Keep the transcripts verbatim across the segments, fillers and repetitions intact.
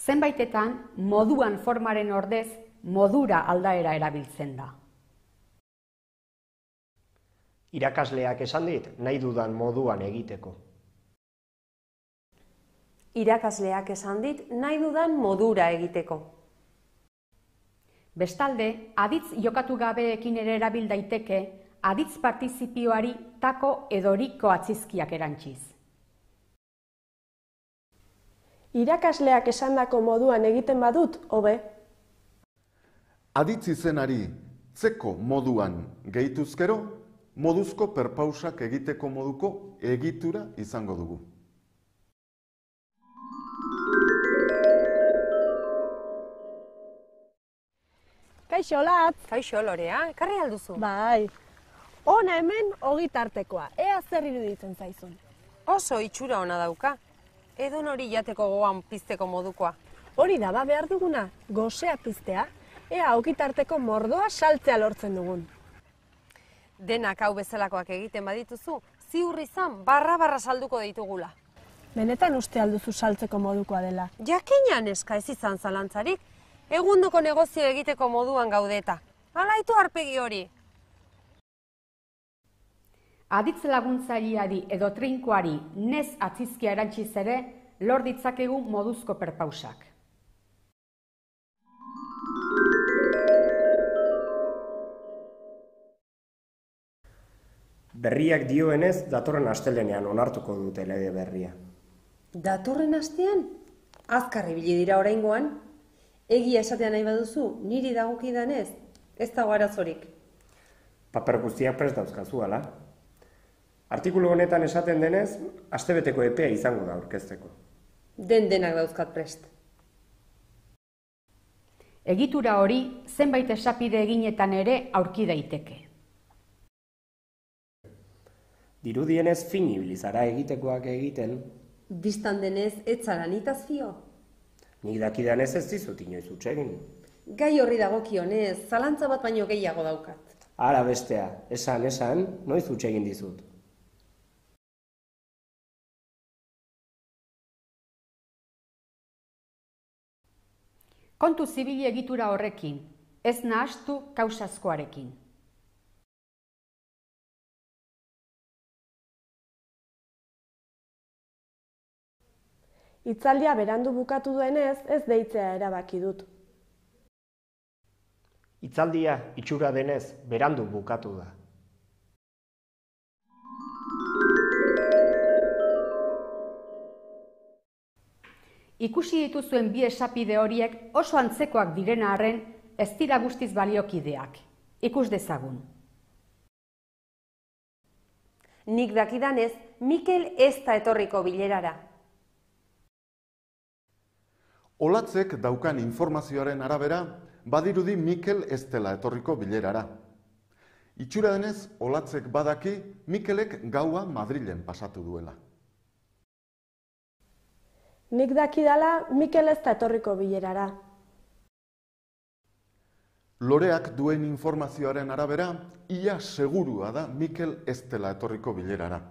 Zenbaitetan, moduan formaren ordez, modura aldaera erabiltzen da. Irakasleak esan dit, nahi dudan moduan egiteko. Irakasleak esan dit, nahi dudan modura egiteko. Bestalde, aditz jokatu gabeekin ere erabil daiteke, aditz partizipioari tako edo riko atzizkiak erantziz. Irakasleak esandako moduan egiten badut, hobe. Aditz izenari zeko moduan gehituzkero, moduzko perpausak egiteko moduko egitura izango dugu. Kaixo, Latz. Kaixo, Lorea, ekarri alduzu? Bai. Hona hemen ogitartekoa, ea zer iruditzen zaizun. Oso itxura ona dauka. Edon hori jateko gogoan pizteko modukoa. Hori da ba behar duguna, gozea piztea, ea ogitarteko mordoa saltzea lortzen dugun. Denak hau bezalakoak egiten badituzu, ziur izan barra-barra salduko ditugula. Benetan uste alduzu saltzeko modukoa dela. Jakinan eska ez izan zalantzarik, egundoko negozio egiteko moduan gaudeta. Alaitu arpegi hori. Aditz laguntzaileari edo trinkoari nez atzizkia erantziz ere, lor ditzakegu moduzko perpausak. Berriak dioenez, datorren astelenean onartuko dute lege berria. Datorren astean? Azkar ibili dira oraingoan. Egia esatea nahi baduzu, niri dagokidanez, ez dago arazorik. Paper guztiak prest dauzkazu, ala? Artikulu honetan esaten denez, astebeteko epea izango da aurkezteko. Den denak dauzkat prest. Egitura hori zenbait esapide eginetan ere aurki daiteke. Dirudienez fin ibili zara egitekoak egiten. Bistan denez, ez zara nitaz fio. Nik dakidanez ez dizut inoiz huts egin. Gai horri dagokionez, zalantza bat baino gehiago daukat. Ara bestea, esan, esan, noiz huts egin dizut. Kontu zibili egitura horrekin, ez nahastu kausazkoarekin. Hitzaldia berandu bukatu duenez, ez deitzea erabaki dut. Hitzaldia itxura denez, berandu bukatu da. Ikusi dituzuen bi esapide horiek oso antzekoak direna arren, ez dira guztiz baliokideak. Ikus dezagun. Nik dakidanez, Mikel ez da etorriko bilerara. Olatzek daukan informazioaren arabera, badirudi Mikel ez dela etorriko bilerara. Itxura denez, Olatzek badaki Mikelek gaua Madrilen pasatu duela. Nik dakidala Mikel ez da etorriko bilerara. Loreak duen informazioaren arabera, ia segurua da Mikel ez dela etorriko bilerara.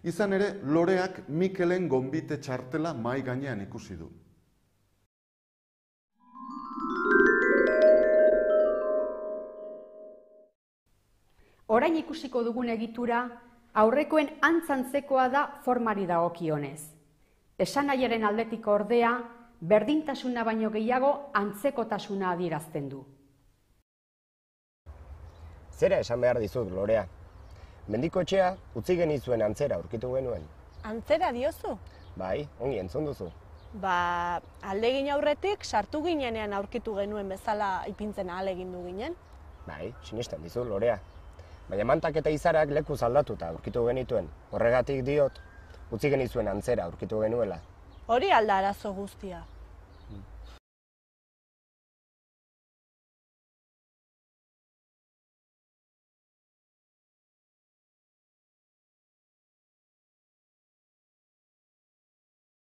Izan ere, Loreak Mikelen gonbite txartela mahai gainean ikusi du. Orain ikusiko dugun egitura, aurrekoen antzantzekoa da formari dagokionez. Esanahiaren aldetik ordea, berdintasuna baino gehiago antzekotasuna adierazten du. Zera esan behar dizut, Lorea. Mendiko etxea utzi genizuen antzera aurkitu genuen. Antzera diozu? Bai, ongi entzun duzu. Ba, aldegin aurretik sartu ginenean aurkitu genuen bezala ipintzen ahalegindu ginen. Bai, sinesten dizut, Lorea. Baina mantak eta izarak lekuz aldatuta aurkitu genituen. Horregatik diot, utzi genizuen antzera aurkitu genuela. Hori alda arazo guztia.